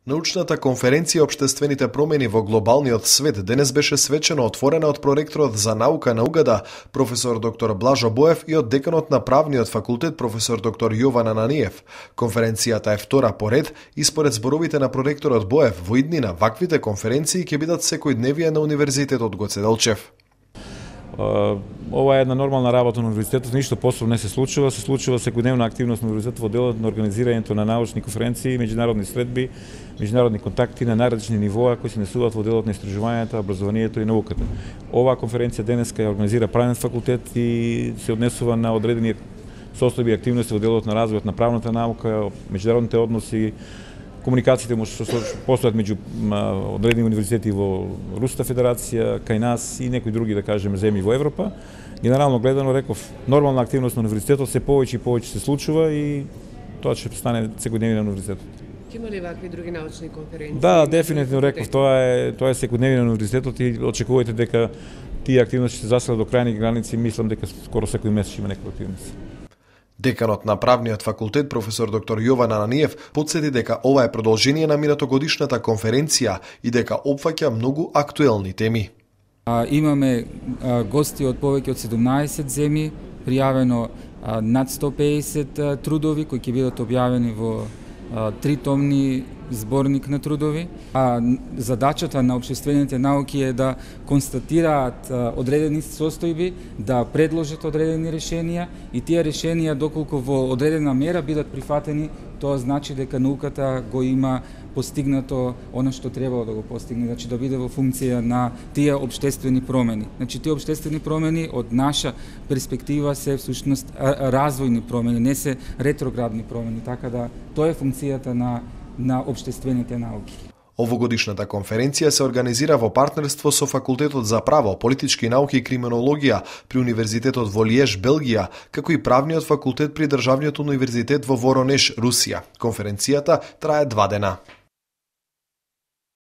Научната конференција Обштествените промени во глобалниот свет денес беше свечено отворена од проректорот за наука на УГД, професор доктор Блажо Боев и од деканот на правниот факултет професор доктор Јован Ананиев. Конференцијата е втора по ред и според зборовите на проректорот Боев во иднина ваквите конференции ќе бидат секојдневие на Универзитетот Гоце Делчев. Ова е една нормална работа на универзитетот, ништо посебно не се случува секојдневна активност на универзитетот во делот на организирањето на научни конференции, меѓународни средби, меѓународни контакти на најразлични нивоа кои се несуваат во делот на истражувањата, образованието и науката. Оваа конференција денеска ја организира правниот факултет и се однесува на одредени состојби и активности во делот на развојот на правната наука, меѓународните односи, комуникациите што постојат меѓу одредени универзитети во Руската федерација, кај нас и некои други, да кажеме, земји во Европа. Генерално гледано, реков, нормална активност на универзитетот се повеќе и повеќе се случува и тоа ќе стане секојдневие на универзитетот. Ќе има ли вакви други научни конференции? Да, дефинитивно реков, тоа е секојдневие на универзитетот и очекувајте дека тие активности ќе заселат до крајни граници, мислам дека скоро секој месец ќе има некоја активност. Деканот на правниот факултет професор доктор Јован Ананиев потсети дека ова е продолжение на минатогодишната конференција и дека опфаќа многу актуелни теми. Имаме гости од повеќе од 17 земји, пријавено над 150 трудови кои ќе бидат објавени во 3-томни зборник на трудови. Задачата на општествените науки е да констатираат одредени состојби, да предложат одредени решенија и тие решенија доколку во одредена мера бидат прифатени, тоа значи дека науката го има постигнато она што требало да го постигне, значи да биде во функција на тие општествени промени. Значи тие општествени промени од наша перспектива се всушност развојни промени, не се ретроградни промени, така да тоа е функцијата на општествените науки. Овогодишната конференција се организира во партнерство со Факултетот за право, политички науки и криминологија при Универзитетот во Лиеж, Белгија, како и правниот факултет при Државниот универзитет во Воронеж, Русија. Конференцијата трае 2 дена.